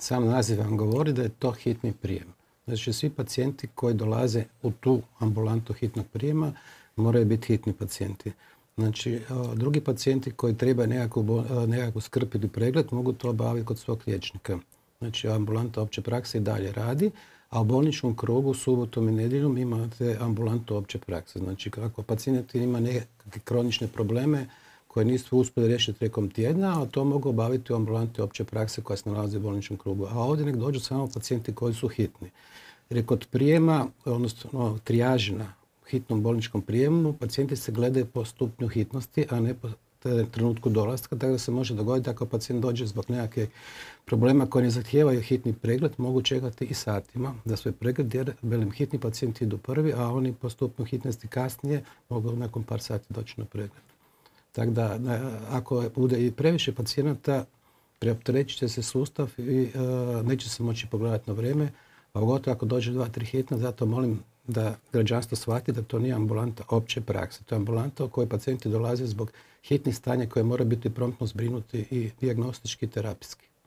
Sam naziv vam govori da je to hitni prijem. Znači, svi pacijenti koji dolaze u tu ambulantu hitnog prijema moraju biti hitni pacijenti. Znači, drugi pacijenti koji trebaju nekakvu skrb ili pregled mogu to obaviti kod svog liječnika. Znači, ambulanta opće prakse i dalje radi, a u bolničkom krugu subotom i nedjeljom imate ambulantu opće prakse. Znači, ako pacijent ima nekakve kronične probleme koje nisu uspjeli riješiti tijekom tjedna, a to mogu obaviti u ambulanti opće prakse koja se nalazi u bolničkom krugu. A ovdje nek dođu samo pacijenti koji su hitni. Jer je kod prijema, odnosno trijaži na hitnom bolničkom prijemu, pacijenti se gledaju po stupnju hitnosti, a ne po trenutku dolaska, tako da se može dogoditi ako pacijent dođe zbog nekakvih problema koji ne zahtijevaju hitni pregled, mogu čekati i satima za svoj pregled, jer hitni pacijenti idu prvi, a oni po stupnju hitnosti kasnije mogu nakon par sati doći na pregled. Tako da, ako bude i previše pacijenata, preopterećit će se sustav i neće se moći pogledati na vrijeme, a pogotovo ako dođe 2-3 hitna, zato molim da građanstvo shvati da to nije ambulanta opće prakse. To je ambulanta u kojoj pacijenti dolaze zbog hitnih stanja koje mora biti promptno zbrinuti i dijagnostički i terapijski.